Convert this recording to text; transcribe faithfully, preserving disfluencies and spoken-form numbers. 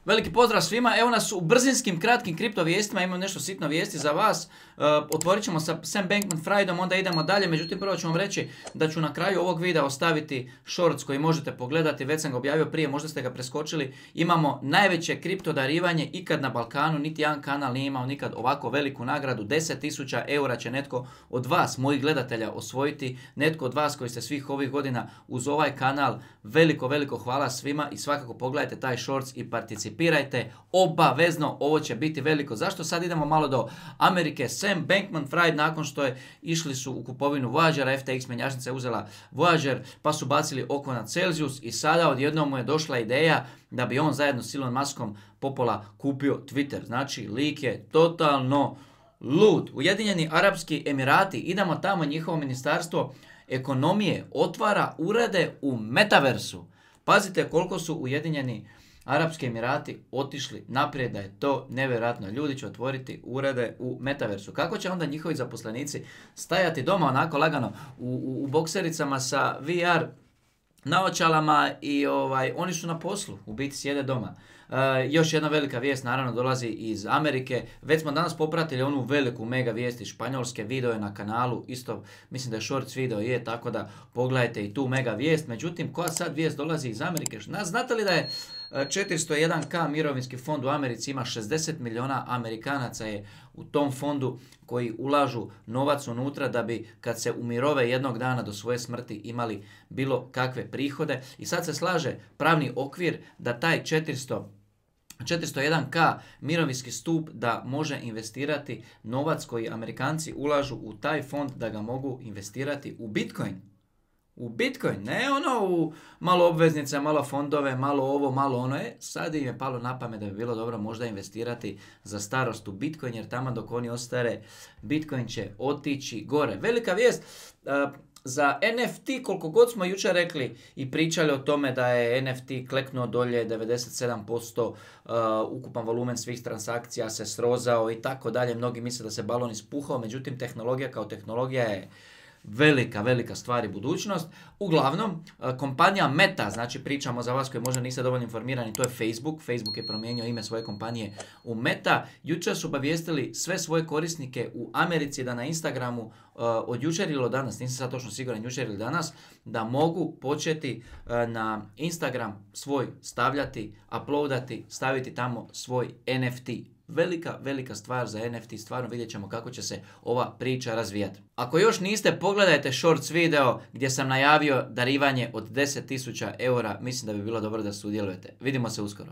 Veliki pozdrav svima, evo nas u brzinskim, kratkim kripto vijestima, imam nešto sitno vijesti za vas. Uh, otvorit ćemo sa Sam Bankman-Friedom, onda idemo dalje, međutim prvo ću vam reći da ću na kraju ovog videa ostaviti shorts koji možete pogledati, već sam ga objavio prije, možda ste ga preskočili. Imamo najveće kripto darivanje ikad na Balkanu, niti jedan kanal nije imao nikad ovako veliku nagradu, deset tisuća eura će netko od vas, mojih gledatelja, osvojiti, netko od vas koji ste svih ovih godina uz ovaj kanal. Veliko, veliko hvala svima i svakako pogledajte taj shorts i participirajte. Participirajte, obavezno, ovo će biti veliko. Zašto sad idemo malo do Amerike? Sam Bankman-Fried nakon što je išli su u kupovinu Voyagera, F T X mjenjačnica je uzela Voyager, pa su bacili oko na Celsius i sada odjednom mu je došla ideja da bi on zajedno s Elon Muskom popola kupio Twitter. Znači, lik je totalno lud. Ujedinjeni Arapski Emirati, idemo tamo, njihovo ministarstvo ekonomije otvara urede u metaversu. Pazite koliko su Ujedinjeni Arapski Emirati otišli naprijed, da je to nevjerojatno. Ljudi će otvoriti urede u metaversu. Kako će onda njihovi zaposlenici stajati doma onako lagano u, u, u boksericama sa V R naočalama i ovaj, oni su na poslu, u biti sjede doma. Uh, još jedna velika vijest naravno dolazi iz Amerike. Već smo danas popratili onu veliku mega vijest iz Španjolske, video je na kanalu, isto mislim da je shorts video je, tako da pogledajte i tu mega vijest. Međutim, koja sad vijest dolazi iz Amerike? Znate li da je četiristo jedan ka mirovinski fond u Americi ima šezdeset milijuna Amerikanaca je u tom fondu koji ulažu novac unutra da bi kad se umirove jednog dana do svoje smrti imali bilo kakve prihode. I sad se slaže pravni okvir da taj četiristo jedan ka mirovinski stup da može investirati novac koji Amerikanci ulažu u taj fond, da ga mogu investirati u Bitcoin. U Bitcoin, ne ono u malo obveznice, malo fondove, malo ovo, malo ono. E, sad im je palo na pamet da bi bilo dobro možda investirati za starost u Bitcoin, jer tamo dok oni ostare, Bitcoin će otići gore. Velika vijest uh, za N F T, koliko god smo jučer rekli i pričali o tome da je N F T kleknuo dolje, devedeset sedam posto uh, ukupan volumen svih transakcija se srozao i tako dalje. Mnogi misle da se balon ispuhao, međutim tehnologija kao tehnologija je velika, velika stvar i budućnost. Uglavnom, kompanija Meta, znači pričamo za vas koji možda niste dovoljno informirani, to je Facebook. Facebook je promijenio ime svoje kompanije u Meta. Jučer su obavijestili sve svoje korisnike u Americi da na Instagramu uh, od jučer ili od danas, nisam sad točno siguran, jučer ili danas, da mogu početi uh, na Instagram svoj stavljati, uploadati, staviti tamo svoj N F T. Velika, velika stvar za N F T, stvarno vidjet ćemo kako će se ova priča razvijati. Ako još niste, pogledajte shorts video gdje sam najavio darivanje od deset tisuća eura, mislim da bi bilo dobro da sudjelujete. Vidimo se uskoro.